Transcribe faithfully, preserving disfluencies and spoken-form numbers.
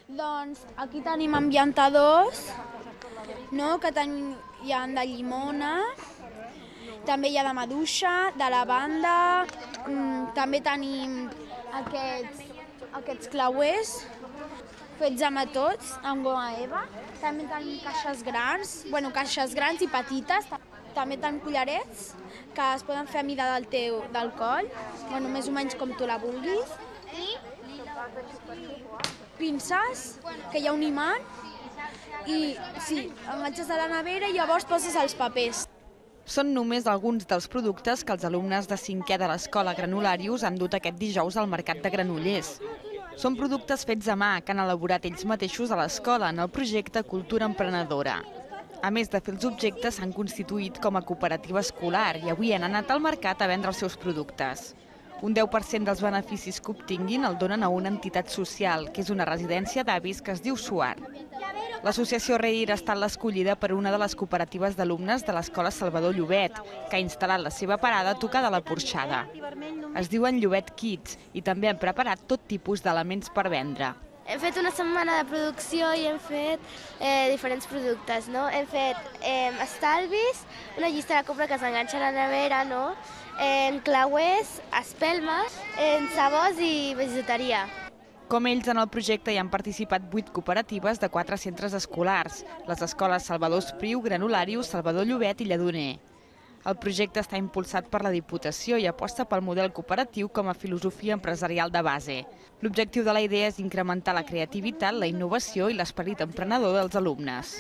Doncs aquí tenim ambientadors, no? Que tenim, hi ha de llimona, també hi ha de maduixa, de lavanda, mmm, també tenim aquests, aquests clauers fets amb tots, amb goma eva. També tenim caixes grans, bueno, caixes grans i petites. També tenim collarets que es poden fer a mida del teu del coll, bueno, més o menys com tu la vulguis. I pinces, que hi ha un imant, i sí, enganxes a la nevera i llavors poses els papers. Són només alguns dels productes que els alumnes de cinquè de l'Escola Granularius han dut aquest dijous al Mercat de Granollers. Són productes fets a mà que han elaborat ells mateixos a l'escola en el projecte Cultura Emprenedora. A més de fer els objectes, s'han constituït com a cooperativa escolar i avui han anat al mercat a vendre els seus productes. Un deu per cent dels beneficis que obtinguin el donen a una entitat social, que és una residència d'avis que es diu Suar. L'associació Reir ha estat l'escollida per una de les cooperatives d'alumnes de l'Escola Salvador Llobet, que ha instal·lat la seva parada a tocar de la Porxada. Es diuen Llobet Kids i també han preparat tot tipus d'elements per vendre. Hem fet una setmana de producció i hem fet eh, diferents productes, no? Hem fet eh, estalvis, una llista de compra que s'enganxa a la nevera, no? Eh, clauers, espelmes, eh, sabors i bijuteria. Com ells, en el projecte hi han participat vuit cooperatives de quatre centres escolars, les escoles Salvador Espriu, Granularius, Salvador Llobet i Lledoner. El projecte està impulsat per la Diputació i aposta pel model cooperatiu com a filosofia empresarial de base. L'objectiu de la idea és incrementar la creativitat, la innovació i l'esperit emprenedor dels alumnes.